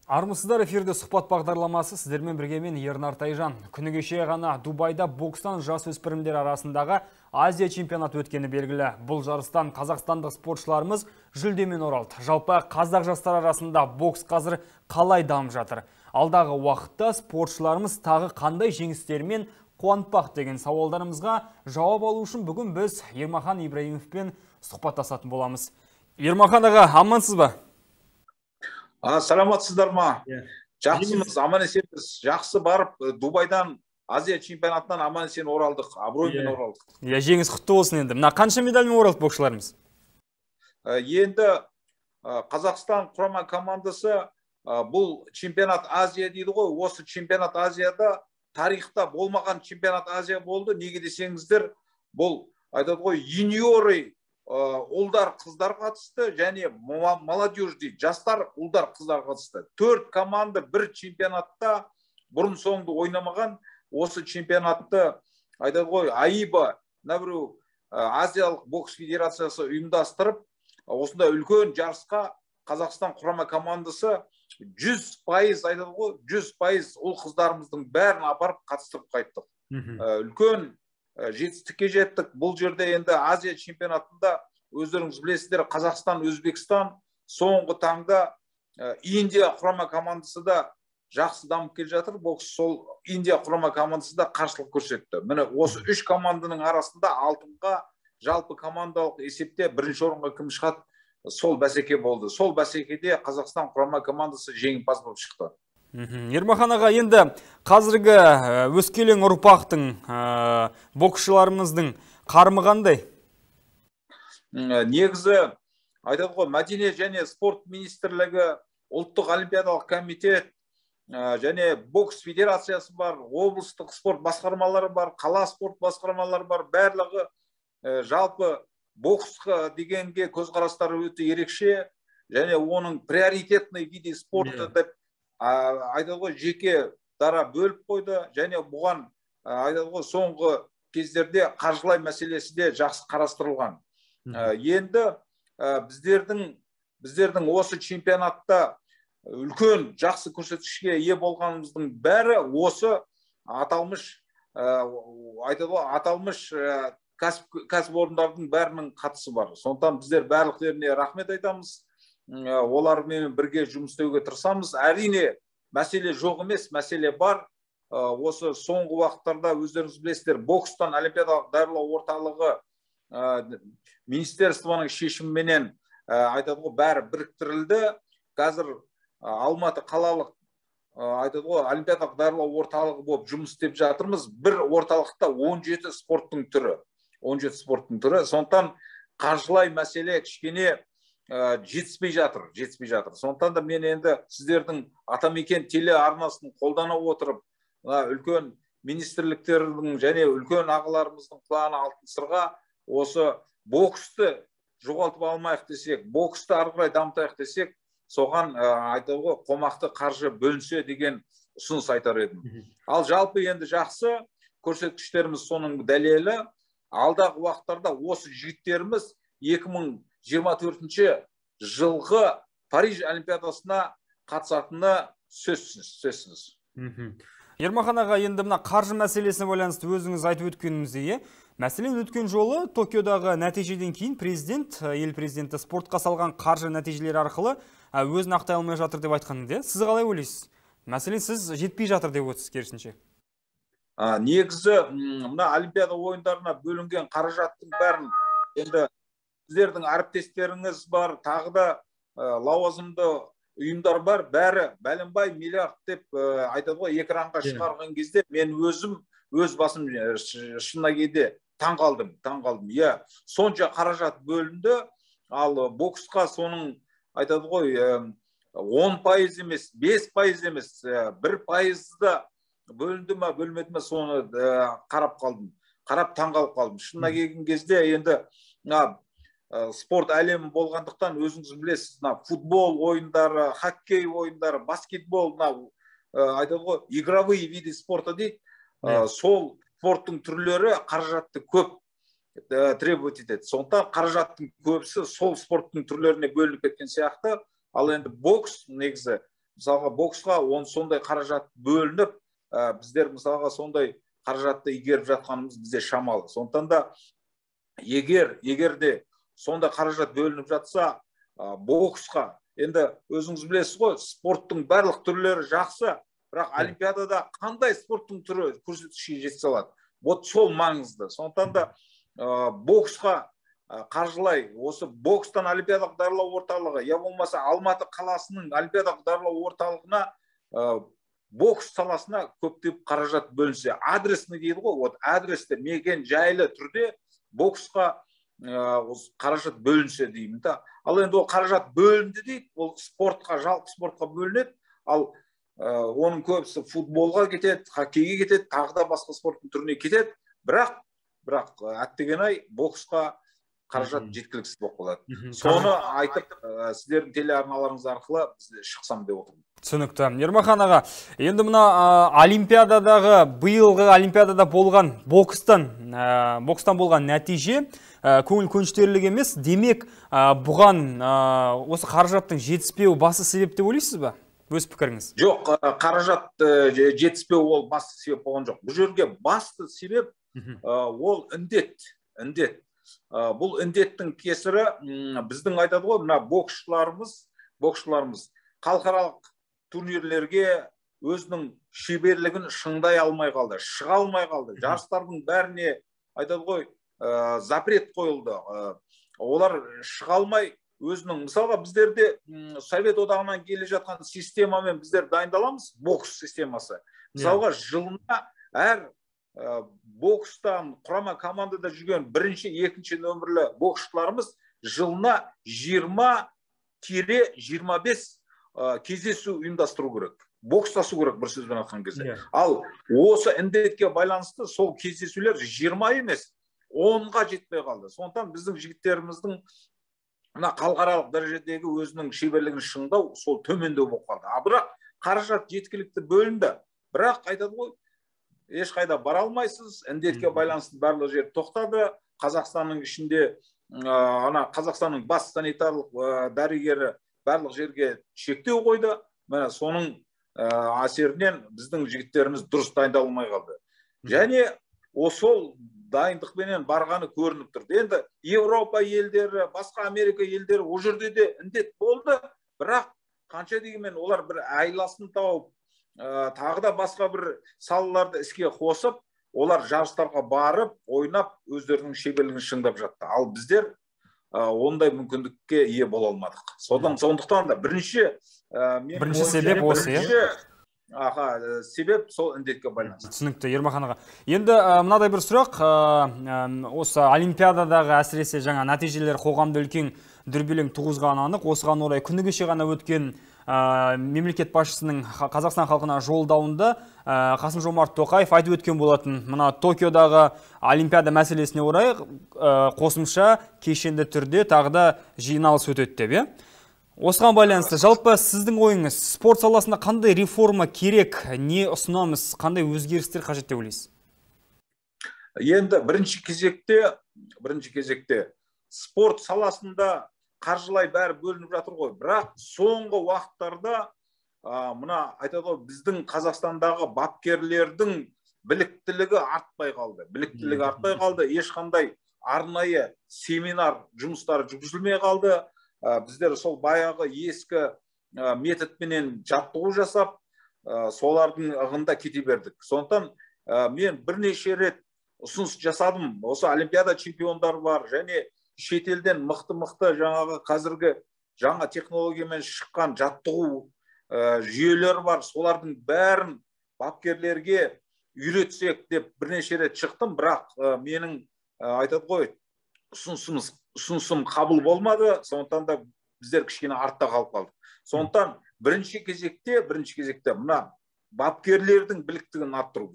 Армысыздар, эфирде сұхбат бағдарламасы сіздермен бірге мен Ернар Тайжан. Күні кеше ғана Дубайда бокстан жасөспірімдер арасындағы Азия чемпионаты өткені белгілі. Бұл жарыстан қазақстандық спортшыларымыз жүлдемен оралды. Жалпы қазақ жастар арасында бокс қазір қалай дамып жатыр? Алдағы уақытта спортшыларымыз тағы қандай жеңістермен қуантпақ деген сауалдарымызға жауап алу үшін бүгін біз Ермахан Ибраимовпен сұхбаттасатын боламыз. Ермахан аға, амансыз ба? Саламатсыздар ма? Жақсымыз, аман есенбіз. Жақсы барып, Дубайдан Азия чемпионатынан аман есен оралдық, абыроймен оралдық. Жеңіс құтты болсын енді. Мына қанша медальмен оралды боксшыларымыз? Енді Қазақстан құрама командасы бұл чемпионат Азия дейді ғой. Осы чемпионат Азияда тарихта болмаған чемпионат Азия болды. Неге десеңіздер, бұл айтады ғой, юниоры ұлдар қыздар қатысты, және молодежь дейді, жастар ұлдар қыздар қатысты. 4 команда бір чемпионатта бұрын соңды ойнамаған. Осы чемпионатты айтады ғой, АИБА, Азиялық бокс федерациясы ұйымдастырып, осында үлкен жарысқа Қазақстан құрама командасы 100% айтады ғой, 100% ұл қыздарымыздың бәрін апарып қатыстырып қайттық. Үлкен жетістікке жеттік. Бұл жерде енді Азия чемпионатында өздеріңіз білесіздер, Қазақстан, Өзбекстан, соңғы таңда Индия құрама командасы да жақсы дамып келе жатыр. Бокс сол Индия құрама командасы да қарсылық көрсетті. Міне осы 3 команданың арасында алтынға жалпы командалық есепте бірінші орынға кім шығады, сол бәсеке болды. Сол бәсекеде Қазақстан құрама командасы жеңімпаз болып шықты. Ермахан аға, енді қазіргі өскелең ұрпақтың боксшыларымыздың қарымы қандай? Негізі айтады ғой, мәдениет және спорт министрлігі, ұлттық олимпиадалық комитет және бокс федерациясы бар, облыстық спорт басқармалары бар, қала спорт басқармалары бар, барлығы жалпы боксқа дегенге көзқарастары өте ерекше, және оның приоритетный виде спорты деп айтады ғой, жеке дара бөліп қойды, және бұған айтады ғой, соңғы кездерде қаржылай мәселесі де жақсы қарастырылған. Енді біздердің осы чемпионатта үлкен жақсы көрсеткішке ие болғанымыздың бәрі осы аталмыш айтады ғой, аталмыш кәсіпорындардың бәрінің қатысы бар. Сондықтан біздер барлықтарына рахмет айтамыз. Олармен бірге жұмыс істеуге тырысамыз. Әрине, мәселе жоқ емес, мәселе бар. Осы соңғы уақыттарда өздеріңіз білесіздер, бокстан олимпиадалық даярлау орталығы министерствоның шешіміменен айтады ғой, бәрі біріктірілді. Қазір Алматы қалалық айтады ғой, олимпиадалық даярлау орталығы болып жұмыс істеп жатырмыз. Бір орталықта 17 спорттың түрі. 17 спорттың түрі. Сондықтан қаржылай мәселе кішкене жетіспей жатыр. Сондықтан да мен енді сіздердің Атамекен телеарнасын қолдана отырып, үлкен министрліктердің және үлкен ағаларымыздың құлағына алтын сырға осы боксты жоғалтып алмайық десек, боксты ары қарай дамытайық десек, соған айтады ғой, қомақты қаржы бөлінсе деген ұсыныс айтар едім. Ал жалпы енді жақсы көрсеткіштеріміз соның дәлелі. Алдағы уақыттарда осы жігіттеріміз 2024 жылғы Париж олимпиадасына қатысатыны сөзсіз. Ермахан аға, енді мына қаржы мәселесіне байланысты өзіңіз айтып өткеніміздей, мәселен өткен жолы Токиодағы нәтижеден кейін ел президенті спортқа салған қаржы нәтижелері арқылы өзін ақтай алмай жатыр деп айтқан еді. Сіз қалай ойлайсыз? Мәселен, сіз жетпей жатыр деп отырсыз керісінше. Негізі мына олимпиада ойындарына бөлінген қаражаттың бәрін енді сіздердің әріптестеріңіз бар, тағы да лауазымды ұйымдар бар, бәрі бәленбай миллиард деп айтады ғой, экранға шығарған кезде мен өз басым шынына келгенде таң қалдым. Сонша қаражат бөлінді, ал боксқа соның айтады ғой, 10% емес, 5% емес, 1% бөлінді ма, бөлмеді ма, соны қарап таң қалып қалдым. Шынына келген кезде енді спорт әлемі болғандықтан өзіңіз білесіз, футбол ойындары, хоккей ойындары, баскетбол, айтады ғой, игровые виды спорта дейді. Сол спорттың түрлері қаражатты көп требовать етеді. Сондықтан қаражаттың көбісі сол спорттың түрлеріне бөлініп кеткен сияқты. Ал енді бокс негізі мысалға боксқа сондай қаражат бөлініп, біздер мысалға сондай қаражатты игеріп жатқанымыз бізде шамалы. Сондықтан да егер де сондай қаражат бөлініп жатса, боксқа, енді өзіңіз білесіз ғой, спорттың барлық түрлері жақсы, бірақ олимпиадада қандай спорттың түрі көрсеткішке жете алады? Вот сол маңызды. Сондықтан да боксқа қаржылай, осы бокстан олимпиадалық даярлау орталығы, я болмаса Алматы қаласының олимпиадалық даярлау орталығына, бокс саласына көптеп қаражат бөлінсе, адресный дейді ғой, вот адресті мекен жайлы түрде боксқа қаражат бөлінсе деймін да. Ал енді ол қаражат бөлінді дейді, ол спортқа, жалпы спортқа бөлінеді, ал оның көбісі футболға кетеді, хоккейге кетеді, тағы да басқа спорттың түріне кетеді, бірақ әттеген-ай боксқа қаражат жеткіліксіз болып қалады. Соны айтып, сіздердің телеарналарыңыз арқылы шықсам деп отырмын. Түсінікті. Ермахан аға, енді мына олимпиададағы, биылғы олимпиадада болған бокстан болған нәтиже көңіл көншітерлік емес. Демек, бұған осы қаражаттың жетіспеуі басы себеп деп ойлайсыз ба? Өз пікіріңіз? Жоқ, қаражат жетіспеу ол басты себеп болған жоқ. Бұл жерге басты себеп ол індет. Бұл індеттің кесірі біздің айтады ғой, мына боксшыларымыз халықаралық турнирлерге өзінің шеберлігін шыңдай алмай қалды, шыға алмай қалды. Жарыстардың бәріне айтады ғой, запрет қойылды. Олар шыға алмай өзінің, мысалға біздерде Совет одағынан келе жатқан системамен біздер дайындаламыз, бокс системасы. Мысалға жылына әр бокстан құрама командада жүрген бірінші, екінші нөмірлі боксшыларымыз жылына 20-25 кездесу ұйымдастыру керек. Бокстасу керек, бір сөзбен айтқан кезде. Ал осы індетке байланысты сол кездесулер 20 емес, 10-ға жетпей қалды. Сондықтан біздің жігіттеріміздің халықаралық дәрежедегі өзінің шеберлігін шыңдау сол төмендеу болып қалды. Бірақ қаражат жеткілікті бөлінді. Бірақ айтады ғой, ешқайда бара алмайсыз, індетке байланысты барлық жер тоқтады. Қазақстанның ішінде, Қазақстанның бас санитарлық дәрігері барлық жерге шектеу қойды. Міне соның әсерінен біздің жігіттеріміз дұрыс дайындалмай қалды. Және сол дайындықпенен барғаны көрініп тұрды. Енді Европа елдері, басқа Америка елдері, о жерде де індет болды, бірақ қанша дегенмен олар бір айласын тауып, тағы да басқа бір салаларды іске қосып, олар жарыстарға барып, ойнап, өздерінің шеберлігін шыңдап жатты. Ал біздер ондай мүмкіндікке ие бола алмадық. Сондықтан да бірінші себеп осы, себеп сол індетке байланысты. Түсінікті, Ермахан аға. Енді мынадай бір сұрақ, осы олимпиададағы әсіресе жаңа нәтижелер қоғамда үлкен дүрбелең туғызғаны анық. Осыған орай күні кеше ғана өткен мемлекет басшысының Қазақстан халқына жолдауында Қасым-Жомарт Тоқаев айтып өткен болатын. Мына Токиодағы олимпиада мәселесіне орай қосымша кешенді түрде тағы да жиналыс өтеді деп. Осыған байланысты, жалпы сіздің ойыңыз, спорт саласында қандай реформа керек, не ұсынамыз, қандай өзгерістер қажет деп ойлайсыз? Енді бірінші кезекте спорт саласында қаржылай бәрі бөлініп жатыр ғой. Бірақ соңғы уақыттарда мына айтады ғой, біздің Қазақстандағы бапкерлердің біліктілігі артпай қалды. Ешқандай арнайы семинар жұмыстары жүргізілмей қалды. Біздер сол баяғы ескі методпенен жаттығу жасап, солардың ығында кете бердік. Сондықтан мен бірнеше рет ұсыныс жасадым. Осы олимпиада чемпиондары бар, және шетелден мықты жаңағы қазіргі жаңа технологиямен шыққан жаттығу жүйелері бар. Солардың бәрін бапкерлерге үйретсек деп бірнеше рет шықтым, бірақ менің айтады ғой, ұсынысым қабыл болмады. Сондықтан да біздер кішкене артта қалып қалдық. Сондықтан бірінші кезекте мына бапкерлердің біліктігін арттыру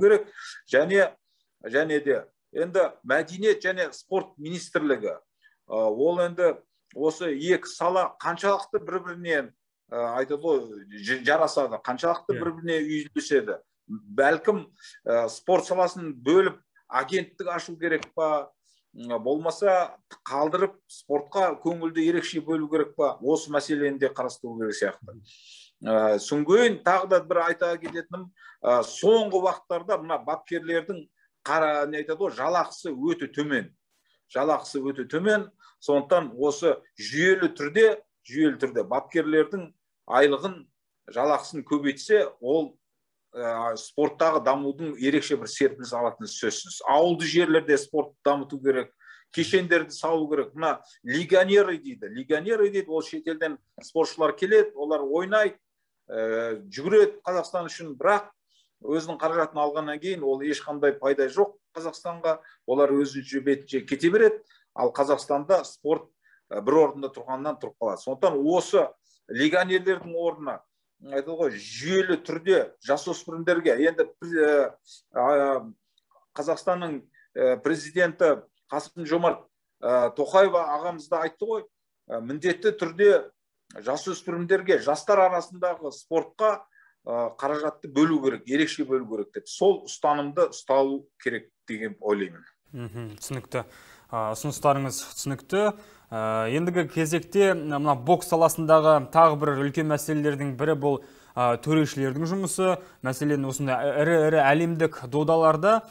керек. Және де енді мәдениет және спорт министрлігі, ол енді осы екі сала қаншалықты бір-бірінен айтады ғой, жарасады, қаншалықты бір-біріне үйлеседі. Бәлкім спорт саласын бөліп агенттік ашу керек па, болмаса қалдырып спортқа көңілді ерекше бөлу керек па, осы мәселені де қарастыру керек сияқты. Соңғы тағы да бір айта кететінім, соңғы уақыттарда мына бапкерлердің жалақысы өте төмен. Жалақысы өте төмен, сондықтан осы жүйелі түрде бапкерлердің айлығын, жалақысын көбейтсе, ол спорттағы дамудың ерекше бір серпіліс алатыны сөзсіз. Ауылды жерлерде спортты дамыту керек, кешендерді салу керек. Мына легионеры дейді, ол шетелден спортшылар келеді, олар ойнайды, жүгіреді Қазақстан үшін, бірақ өзінің қаражатын алғаннан кейін ол ешқандай пайда жоқ Қазақстанға, олар өзінше бетінше кете береді, ал Қазақстанда спорт бір орында тұрғаннан тұрып қалады. Сондықтан осы легионерлердің орнына жүйелі түрде жасөспірімдерге, енді Қазақстанның президенті Қасым-Жомарт Тоқаев ағамыз да айтты ғой, міндетті түрде жасөспірімдерге, жастар арасындағы спортқа қаражатты бөлу керек, ерекше бөлу керек деп. Сол ұстанымды ұсталу керек деген ойлаймын. Түсінікті. Ұсыныстарыңыз түсінікті. Ендігі кезекте мына бокс саласындағы тағы бір үлкен мәселелердің бірі бұл төрешілердің жұмысы. Мәселен, осындай ірі әлемдік додаларда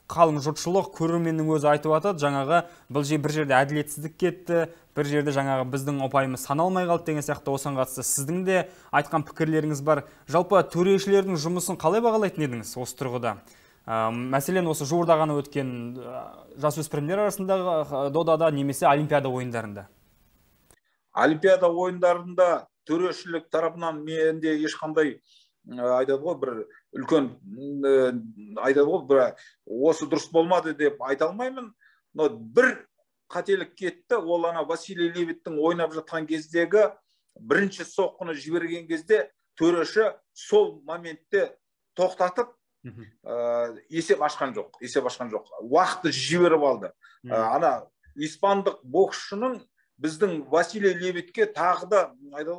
қалың жұртшылық, көрерменнің өзі айтып атады, жаңағы бір жерде әділетсіздік кетті, бір жерде жаңағы біздің ұпайымыз саналмай қалды деген сияқты. Осыған қатысты сіздің де айтқан пікірлеріңіз бар. Жалпы төрешілердің жұмысын қалай бағалайтын едіңіз осы тұрғыда? Мәселен, осы жуырда ғана өткен жасөспірімдер арасындағы додада немесе Олимпиада ойындарында? Олимпиада ойындарында төрешілік тарапынан менде ешқандай бір үлкен осы дұрыс болмады деп айта алмаймын. Но бір қателік кетті, ол Василий Левиттің ойнап жатқан кездегі бірінші соққыны жіберген кезде төреші сол моментте тоқтатып есеп ашқан жоқ. Уақытты жіберіп алды. Испандық боксшының біздің Василий Левитке тағы да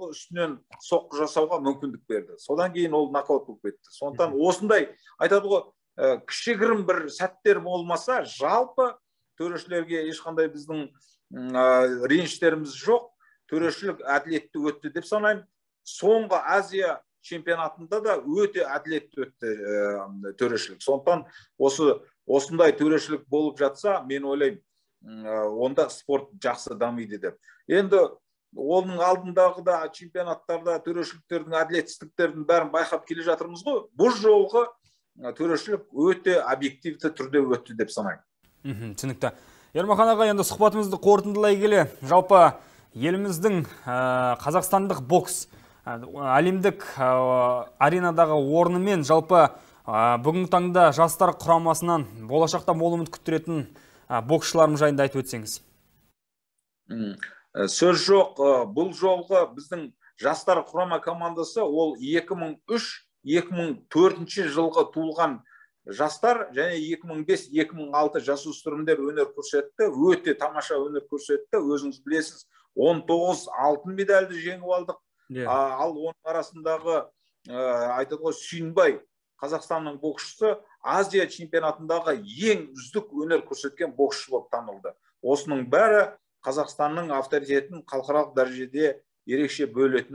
үстінен соққы жасауға мүмкіндік берді. Содан кейін ол нокаут болып кетті. Сондықтан осындай кішігірім бір сәттер болмаса, жалпы төрешілерге ешқандай біздің реніштеріміз жоқ. Төрешілік әділетті өтті деп санаймын. Соңғы Азия чемпионатында да өте әділетті өтті төрешілік. Сондықтан осындай төрешілік болып жатса, мен ойлаймын, онда спорт жақсы дамиды деп. Енді оның алдындағы да чемпионаттарда төрешіліктердің әділетсіздіктердің бәрін байқап келе жатырмыз ғой. Бұл жолғы төрешілік өте объективті түрде өтті деп санаймын. Түсінікті. Ермахан аға, енді сұхбатымызды қорытындылай келе, жалпы еліміздің қазақстандық бокс әлемдік аренадағы орнымен, жалпы бүгінгі таңда жастар құрамасынан болашақта мол үміт күттіретін боксшыларымыз жайында айтып өтсеңіз. Сөз жоқ, бұл жолғы біздің жастар құрама командасы ол 2003-2004 жылғы туылған жастар және 2005-2006 жасөспірімдер өнер көрсетті, өте тамаша өнер көрсетті. Өзіңіз білесіз, 19 алтын медальді жеңіп алдық. Ал оның арасындағы Сүйінбай, Қазақстанның боксшысы, Азия чемпионатындағы ең үздік өнер көрсеткен боксшы болып танылды. Осының бәрі Қазақстанның авторитетін халықаралық дәрежеде ерекше бөліп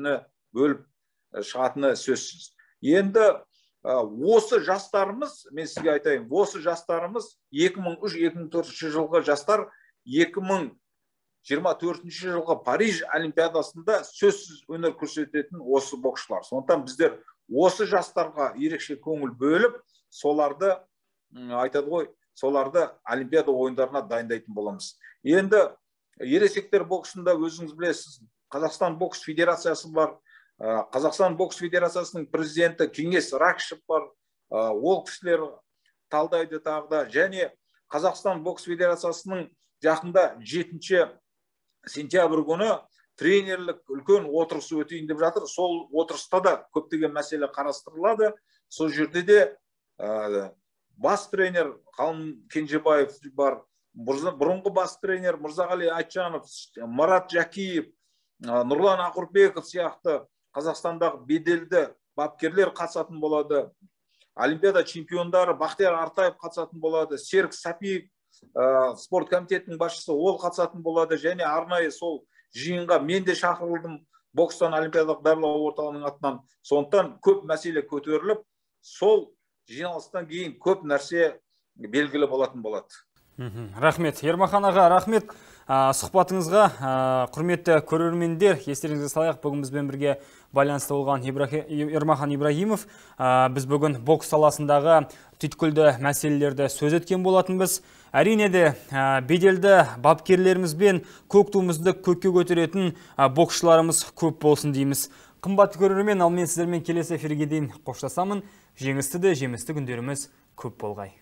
шығатыны сөзсіз. Енді осы жастарымыз, мен сізге айтайын, осы жастарымыз 2003-2004 жылғы жастар 2024 жылғы Париж олимпиадасында сөзсіз өнер көрсететін осы боксшылар. Сондықтан біздер осы жастарға ерекше көңіл бөліп, соларды олимпиада ойындарына дайындайтын боламыз. Енді ересектер боксында өзіңіз білесіз, Қазақстан бокс федерациясы бар. Қазақстан бокс федерациясының президенті Кеңес Ракышев бар. Ол кісілер талдайды тағда. Және Қазақстан бокс федерациясының жақында 7 сентябрь күні тренерлік үлкен отырысы өтейін деп жатыр. Сол отырыста да көптеген мәселе қарастырылады. Сол жерде де бас тренер Қалым Кенжебаев бар, бұрынғы бас тренер Мырзағали Айтжанов, Марат Жакиев, Нұрлан Ақұрбеков сияқты Қазақстандағы беделді бапкерлер қатысатын болады. Олимпиада чемпиондары Бақтияр Артаев қатысатын болады. Серік Сапиев, спорт комитетінің басшысы ол қатысатын болады, және арнайы сол жиынға мен де шақырылдым бокстан олимпиадалық даярлау орталығының атынан. Сондықтан көп мәселе көтеріліп, сол жиналыстан кейін көп нәрсе белгілі болатын болады. Рахмет. Ермахан аға, рахмет сұхбатыңызға. Құрметті көрермендер, естеріңізге салайық, бүгін бізбен бірге байланысты болған Ермахан Ибрагимов. Біз бүгін бокс саласындағы түйткілді мәселелерді сөз еткен болатынбыз. Әрине де беделді бапкерлерімізбен көк туымызды көкке көтеретін боксшыларымыз көп болсын дейміз. Қымбатты көрермен, ал мен сіздермен келесі эфирге дейін қоштасамын. Жеңісті де жемісті күндеріміз көп болғай.